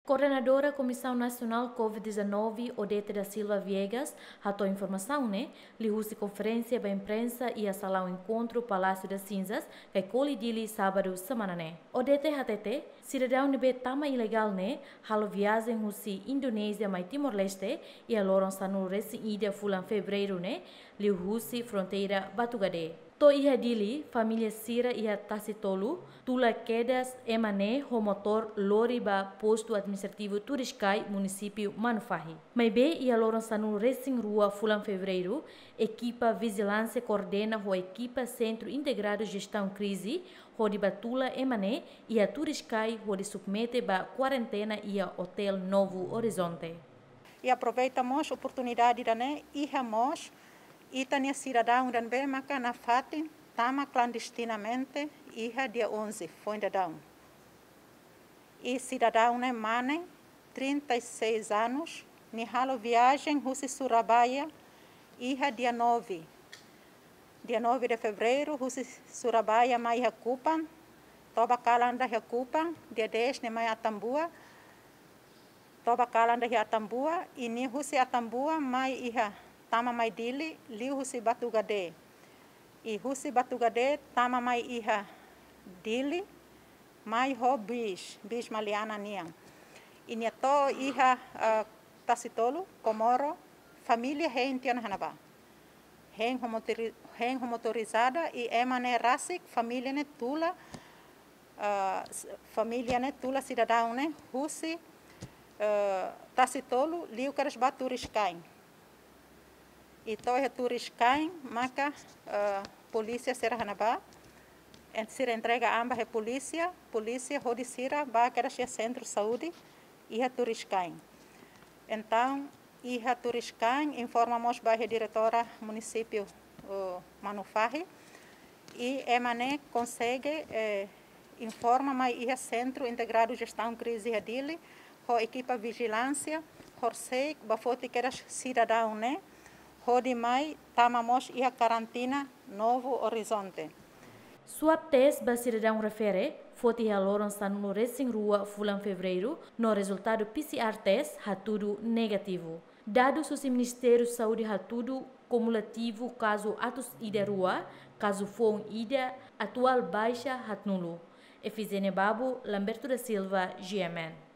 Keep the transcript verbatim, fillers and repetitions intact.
Koordenadora Komisaun Nasionál COVID dezanove, Odete da Silva Viegas, hato'o informasaun ne'e liuhusi konferénsia ba imprensa iha salaun enkontru Palácio das Cinzas, Caicoli, Dili, sábadu semana ne'e. Odete hatete, sidadaun ne'ebé tama ilegál ne'e halo viajen husi Indonézia mai Timor-Leste iha loron sanulu-resin-ida fulan Fevereiru ne'e, liuhusi fronteira Batugade. To'o iha Dili, família sira iha Tasitolu tula kedas ema ne'e ho motór lori ba postu administrativu Turiscai, munisípiu Manufahi. Maibé iha loron sanulu-resin-rua fulan Fevereiru, ekipa vijilánsia koordena ho ekipa Sentru Integradu Jestaun Krize hodi ba tula ema ne'e iha Turiscai hodi submete ba kuarentena iha Hotel Novo Horizonte. I aproveita mós oportunidade ida-ne'e, iha mós ita-nia sidadaun ida ne'ebé maka nafatin tama klandestinamente iha dia onze, foin daudaun. I sidadaun ne'e mane, trinta e seis anos, nia halo viajen husi Surabaya iha dia nove. Dia nove de Fevereiru, husi Surabaya mai iha Kupang, toba kalan ida iha Kupang, dia dez nia mai Atambua, toba kalan ida iha Atambua, i nia husi Atambua mai iha, tama mai Dili, liuhusi Batugade. I husi Batugade tama mai iha Dili, mai ho bis, bis maliana nian. I nia to'o iha, eh, Tasitolu, Comoro, família hein tiha ona iha ne'ebá. Hein ho motori-, hein ho motorizada i ema ne'e rasik, família ne'e tula, eh, s-, família ne'e tula sidadaun ne'e husi, eh, Tasitolu, liu kedas ba Turiscai. I to'o iha Turiscai, maka, eh, polísia sira iha ne'ebá, en-, sira entrega an ba iha polísia, polísia hodi sira ba kedas iha sentru saúde iha Turiscai. Entaun, iha Turiscai, informa mós ba iha diretora munisípiu, eh, Manufahi, i ema ne'e konsege, eh, informa mai iha Sentru Integradu Jestaun Krize iha Dili, ho ekipa vijilánsia, horisehik ba foti kedas sidadaun ne'e, hodi mai tama mós iha karantina Novo Horizonte. Swab test ba sidadaun refere foti iha loron sanulu-resin-rua fulan Fevereiru, no rezultadu P C R test hatudu negativu. Dadus husi Ministériu Saúde hatudu kumulativu kazu atus ida rua, kazu foun ida, atuál baixa haatnulu. Efizénia Babo, Lamberto da Silva, G M N.